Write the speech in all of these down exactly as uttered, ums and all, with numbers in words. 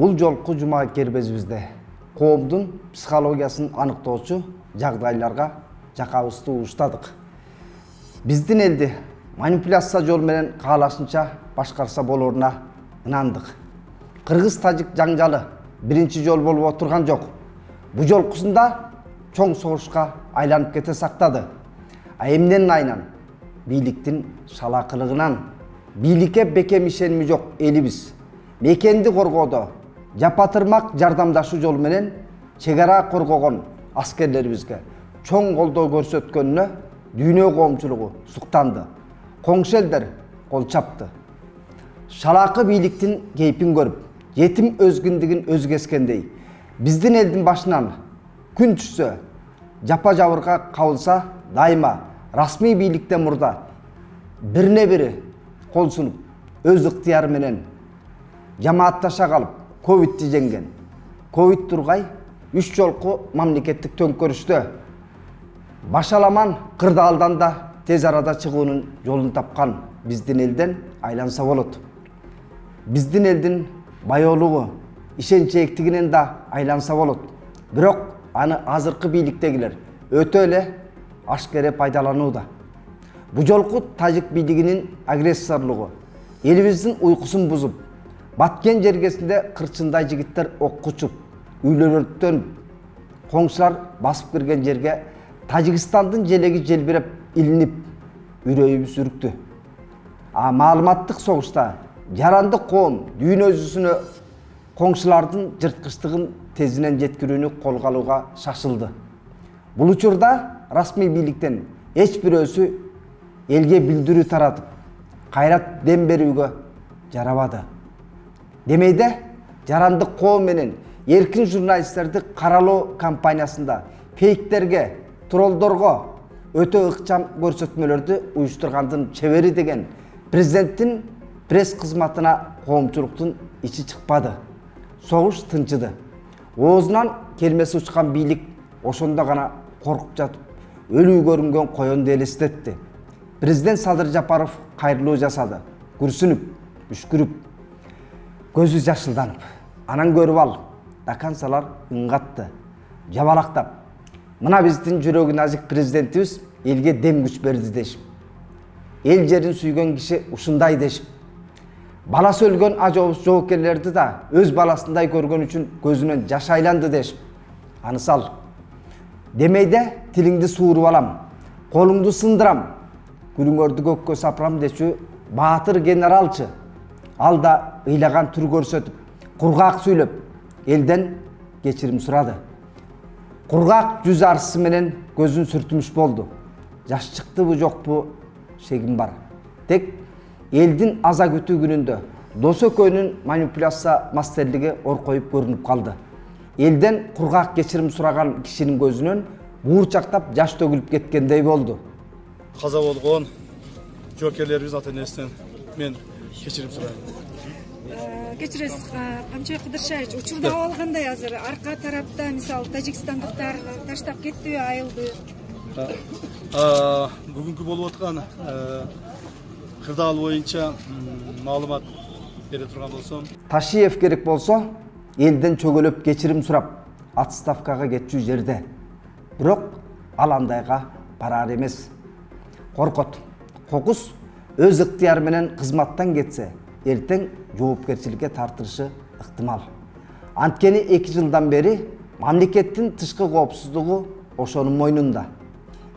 Бул жолку жума кербезибизде коомдун психологиясын аныктоочу жагдайларга жакабызды угуштадык. Биздин элди манипуляция жол менен каалашынча башкарса болоруна ынандык. Кыргыз-тажик жаңжалы биринчи жол болуп отурган жок. Бу жолкусунда чоң согушка айланып кете сактады. А эмненин айынан? Бийликтин шалакылыгынан. Бийликке бекем ишеними жок элибиз. Мекенди коргоодо жапатырмак жардамдашуу жол менен чек ара коргогон аскерлерибизге чоң колдоо көрсөткөнүнө дүйнө коомчулугу суктанды. Коңшу элдер кол чапты. Шалакы бийликтин кейпин көрүп, жетим өзгүндүгүн өзгескендей, биздин элдин башынан күн түшсө, жапа жабырга кабылса, дайыма расмий бийликтен мурда бирине бири кол сунуп, өз ыктыяры менен жамаатташа калып, ковидти жеңген. Ковид тургай үч жолку мамлекеттик төңкөрүштө башаламан кырдаалдан да тез арада чыгуунун жолун тапкан биздин элден айланса болот. Биздин элдин байоолугу, ишенчээктигинен да айланса болот. Бирок аны азыркы бийликтегилер өтө эле ашкере пайдаланууда. Бу жолку тажик бийлигинин агрессорлугу элибиздин уйкусун бузуп, баткен жергесинде кырчындай жигиттер окко учуп, үйлөр өрттөнүп, коңшулар басып кирген жерге Тажикстандын желеги желбиреп илинип, үрөйүбүз үрүктү. А маалыматтык согушта жарандык коом дүйнө жүзүнө коңшулардын жырткычтыгын тезинен жеткирүүнү колго алууга шашылды. Бул учурда расмий бийликтен эч бирөөсү элге билдирүү таратып, кайрат дем берүүгө жарабады. Демейде жарандык коом менен эркин журналисттерди каралоо кампаниясында фейктерге, троллдорго өтө ыкчам көрсөтмөлөрдү уюштургандын чебери деген президенттин пресс кызматына коомчулуктун ичи чыкпады. Согуш тынчыды. Оозунан келмеси учкан бийлик ошондо гана коркуп жатып, өлүү көрүнгөн коёнду элестетти. Президент Садыр Жапаров кайрылуу жасады. Күрсүнүп, үшкүрүп, көзү жашылданып. Анан көрүп ал, дакансалар ыңгатты, жабалактап. Мына биздин жүрөгү назик президентибиз элге дем күч берди дешип. Эл жерин сүйгөн киши ушундай дешип. Баласы өлгөн ажообуз жоокерлерди да өз баласындай көргөн үчүн көзүнөн жаш айланды дешип. Анысал. Демейде тилиңди сууруп алам, колуңду сындырам, күлүңөрдү көккө сапырам дечү баатыр генералчы. Ал да ыйлаган түр көрсөтүп, кургак сүйлөп, элден кечирим сурады. Кургак жүз арысы менен көзүн сүртүмүш болду. Жаш чыктыбы жокпу шегим бар. Тек элдин аза күтүү күнүндө дос экөөнүн манипуляция мастерлиги оркоюп көрүнүп калды. Элден кургак кечирим сураган кишинин көзүнөн буурчактап жаш төгүлүп кеткендей болду. Каза болгон жоокерлерибиз ата-энесинен мен кечирим сурайм. Кечиресиз, Камчыбек Кыдыршаевич, учурда алгандай азыр арка тарапта мисалы тажикстандыктар таштап кеттиби, айылды? Бүгүнкү болуп аткан кырдаал боюнча маалымат бере турган болсом, Ташиев керек болсо элден чөгөлөп кечирим сурап отставкага кетчү жерде. Бирок ал андайга барар эмес. Коркот. Кокус өз ыктыяры менен кызматтан кетсе, эртең жоопкерчиликке тартылышы ыктымал. Анткени эки жылдан бери мамлекеттин тышкы коопсуздугу ошонун мойнунда.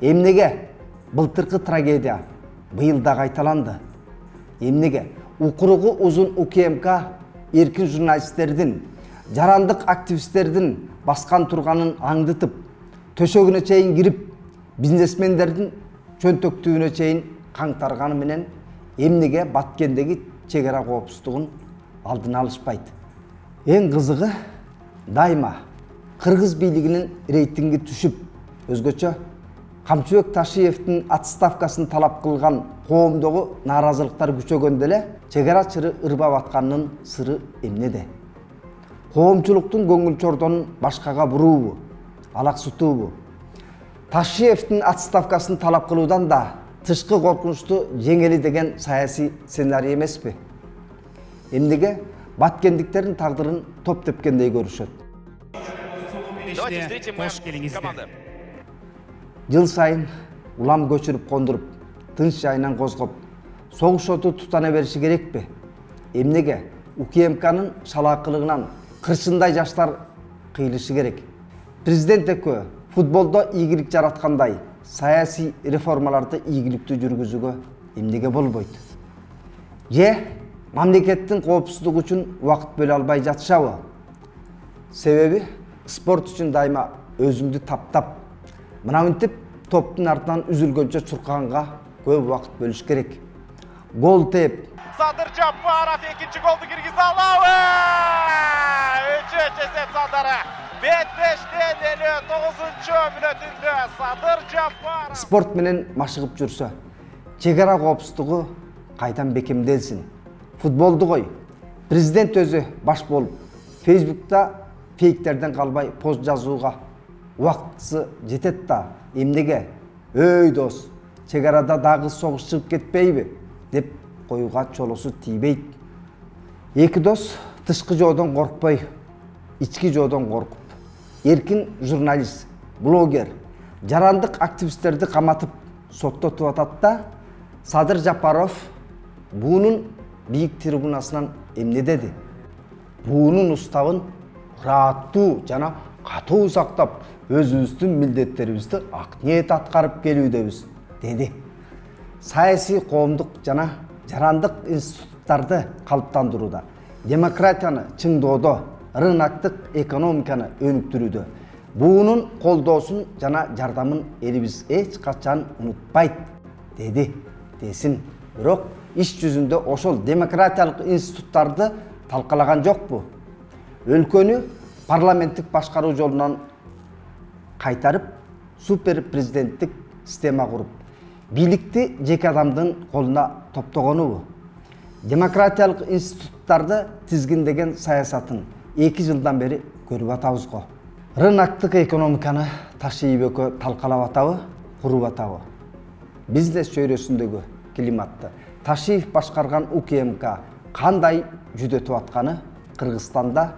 Эмнеге былтыркы трагедия быйыл да кайталанды? Эмнеге укуругу узун УКМК эркин журналисттердин, жарандык активисттердин баскан турганын аңдытып, төшөгүнө чейин кирип, бизнесмендердин чөнтөктүүнө чейин каңтарганы менен эмнеге Баткендеги чек ара коопсуздугун алдын алышпайт? Эң кызыгы дайыма кыргыз бийлигинин рейтинги түшүп, өзгөчө Камчыбек Ташиевдин отставкасын талап кылган коомдогу нааразылыктар күчөгөндө эле чек ара чыры ырбап атканынын сыры эмнеде? Коомчулуктун көңүл чордонун башкага буруубу, алаксытуубу? Ташиевдин отставкасын талап кылуудан да тышкы коркунучту жеңели деген саясий сценарий эмеспи? Эмнеге баткендиктердин тагдырын топ тепкендей көрүшөт. Кош келиңиздер. Жыл сайын улам көчүрүп кондуруп, тынч жайынан козгоп, согуш оту тутана бериши керекпи? Эмнеге УКМКнын шалаакылыгынан кыршындай жаштар кыйылышы керек? Президент экөө футболдо ийгилик жараткандай, саясий реформаларды ийгиликтүү жүргүзүүгө эмнеге болбойт? Же мамлекеттин коопсуздугу үчүн убакыт бөлө албай жатышабы? Себеби спорт үчүн дайыма өзүмдү таптап, мынамынтип топтун артынан үзүлгөнчө чуркаганга көп убакыт бөлүш керек. Гол теп. Садыр Жапаров экинчи голду киргизе алабы. Үчүнчү эсеп Садыры. Беттештен элүү тогузунчу мүнөтүндө Садыр Жапаров. Спорт менен машыгып жүрсө, чек ара коопсуздугу кайдан бекемделсин. Футболду кой. Президент өзү баш болуп, Фейсбукта фейктерден калбай пост жазууга убактысы жетет да. Эмнеге? Өй дос, чек арада дагы согуш чыгып кетпейби? Деп коюга чолосу тийбейт. Эки дос тышкы жоодон коркпой, ички жоодон коркуп, эркин журналист, блогер, жарандык активисттерди каматып соттотуп атат да, Садыр Жапаров буунун бийик трибунасынан эмне деди? Буунун уставын ыраттуу жана катуу сактап, өзүбүздүн милдеттерибизди ак ниет аткарып келүүдөбүз, деди. Саясий, коомдук жана жарандык институттарды калыптандырууда, демократияны чыңдоодо, рыноктук экономиканы өнүктүрүүдө буунун колдоосун жана жардамын элибиз эч качан унутпайт, деди. Десин, бирок иш жүзүндө ошол демократиялык институттарды талкалаган жокпу? Өлкөнү парламенттик башкаруу жолунан кайтарып, супер президенттик система куруп, бийликти жеке адамдын колуна топтогонубу? Демократиялык институттарды тизгиндеген саясатын эки жылдан бери көрүп атабыз го. Рыноктук экономиканы Ташиев экөө талкалап атабы, куруп атабы? Бизнес чөйрөсүндөгү климатты Ташиев башкарган УКМК кандай жүдөтүп атканы Кыргызстанда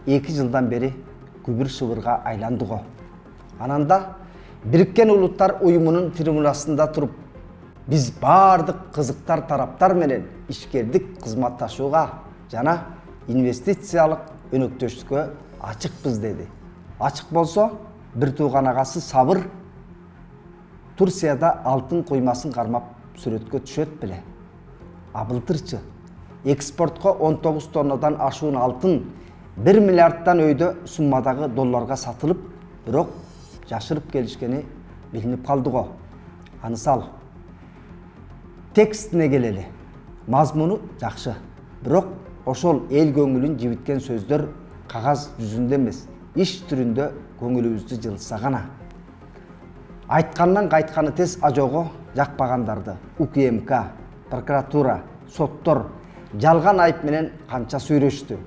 эки жылдан бери күбүр шыбырга айланды го. Ананда Бириккен Улуттар уюмунун трибунасында туруп, биз баардык кызыктар тараптар менен ишкердик кызматташууга жана инвестициялык өнөктөштүккө ачыкпыз деди. Ачык болсо, бир тууган агасы Сабыр Турцияда алтын коймасын кармап сүрөткө түшөт беле. А былтырчы экспортко он тогуз тоннадан ашуун алтын бир миллиарддан өйдө суммадагы долларга сатылып, бирок жашырып келишкени билинип калды го. Анысал. Текстине келели. Мазмуну жакшы, бирок ошол эл көңүлүн жибиткен сөздөр кагаз жүзүндө эмес, иш түрүндө көңүлүбүздү жылытса гана. Айткандан кайтканы тез ажого жакпагандарды УКМК, прокуратура, соттор жалган айып менен канча сүйлөштү.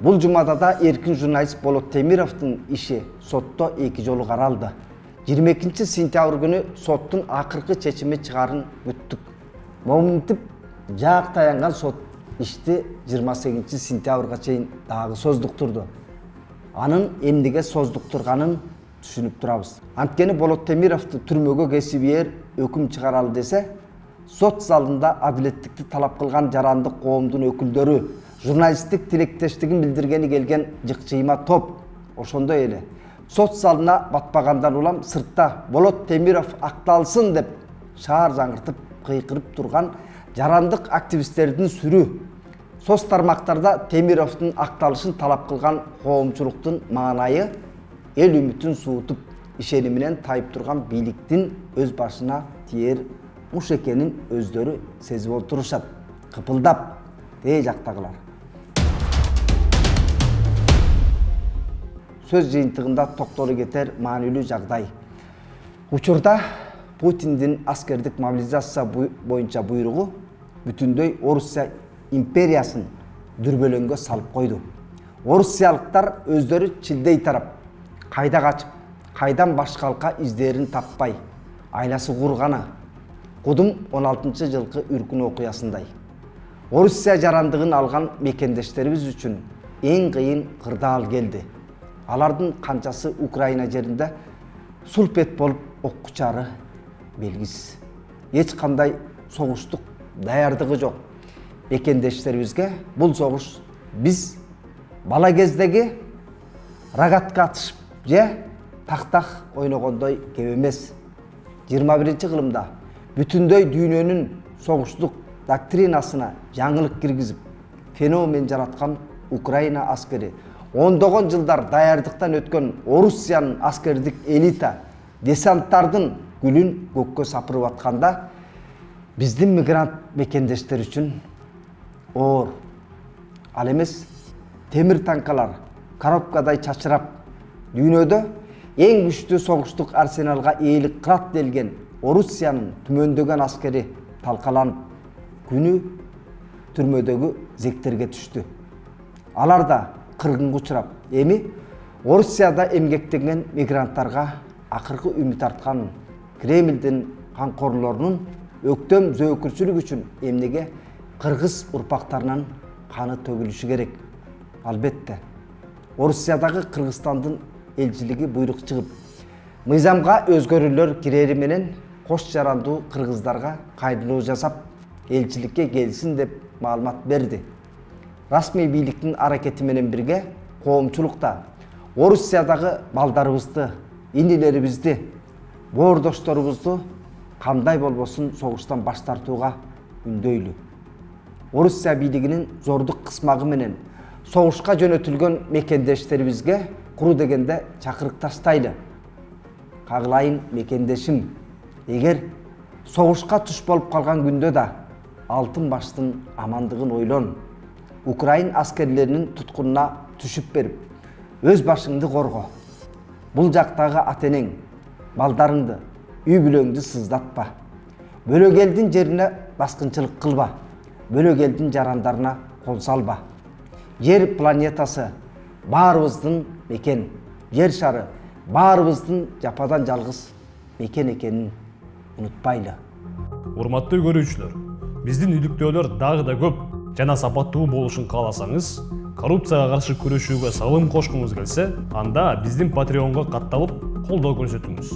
Бул жумада да эркин журналист Болот Темировдун иши сотто эки жолу каралды. жыйырма экинчи сентябрь күнү соттун акыркы чечими чыгарын күттүк. Моминтип жаак таянган сот ишти жыйырма сегизинчи сентябрга чейин дагы создуктурду. Анын эмнеге создуктурганын түшүнүп турабыз. Анткени Болот Темировду түрмөгө кесибийер өкүм чыгаралы десе, сот залында адилеттикти талап кылган жарандык коомдун өкүлдөрү, журналисттик тилектештигин билдиргени келген жыкчыйма топ ошондой эле сот залына батпагандан улам сыртта Болот Темиров акталсын деп шаар жаңыртып кыйкырып турган жарандык активисттердин сүрү, соц тармактарда Темировдун акталышын талап кылган коомчулуктун маанайы эл үмүтүн суутуп, ишениминен тайып турган бийликтин өз башына тиер муш экенин өздөрү сезип отурушат. Кыпылдап, дей жактагылар. Сөз жыйынтыгында токтоло кетер маанилүү жагдай. Учурда Путиндин аскердик мобилизация боюнча буйругу бүтүндөй Орусия империясын дүрбөлөңгө салып койду. Орусиялыктар өздөрү чилдей тарап, кайда качып, кайдан баш калка издерин таппай, айласы курганы Кудум он алтынчы жылкы үркүн окуясындай. Орусия жарандыгын алган мекендештерибиз үчүн эң кыйын кырдаал келди. Алардын канчасы Украина жеринде сулпет болуп оккучары белгисиз. Эч кандай согуштук даярдыгы жок. Мекендештерибизге бул согуш биз бала кездеги рогатка атышып же тактак ойногондой кеп эмес. жыйырма биринчи кылымда бүтүндөй дүйнөнүн согуштук доктринасына жаңылык киргизип, феномен жараткан Украина аскери, ондогон жылдар даярдыктан өткөн Орусиянын аскердик элита десанттардын гүлүн көккө сапырып атканда, биздин мигрант мекендештер үчүн оор. Ал эмес темир танкалар коробкадай чачырап, дүйнөдө эң күчтүү согуштук арсеналга ээлик кылат делген Орусиянын түмөндөгөн аскери талкаланып, күнү түрмөдөгү зектерге түштү. Алар да кыргынга учурап, эми Орусияда эмгектенген мигранттарга акыркы үмүт арткан Кремлдин камкорлорунун өктөм зөөкүрчүлүк үчүн эмнеге кыргыз урпактарынан каны төгүлүшү керек. Албетте, Орусиядагы Кыргызстандын элчилиги буйрук чыгып, мыйзамга өзгөрүүлөр кирери менен кош жарандуу кыргыздарга кайрылуу жасап, элчиликке келсин деп маалымат берди. Расмий бийликтин аракети менен бирге коомчулук да Орусиядагы балдарыбызды, инилерибизди, боордошторубузду кандай болбосун согуштан баш тартууга үндөйлү. Орусия бийлигинин зордук кысмагы менен согушка жөнөтүлгөн мекендештерибизге куру дегенде чакырык таштайлы. Кагылайын мекендешим, эгер согушка туш болуп калган күндө да алтын баштын амандыгын ойлон. Украин аскерлеринин туткунуна түшүп берип, өз башыңды корго. Бул жактагы ата-энең, балдарыңды, үй бүлөңдү сыздатпа. Бөлөк элдин жерине баскынчылык кылба. Бөлөк элдин жарандарына кол салба. Жер планетасы баарыбыздын мекен. Жер шары баарыбыздын жападан жалгыз мекен экенин унутпайлы. Урматтуу көрүүчүлөр, биздин иликтөөлөр дагы да көп жана сапаттуу болушун кааласаңыз, коррупцияга каршы күрөшүүгө салым кошкуңуз келсе, анда биздин Patreon'га катталып колдоо көрсөтүңүз.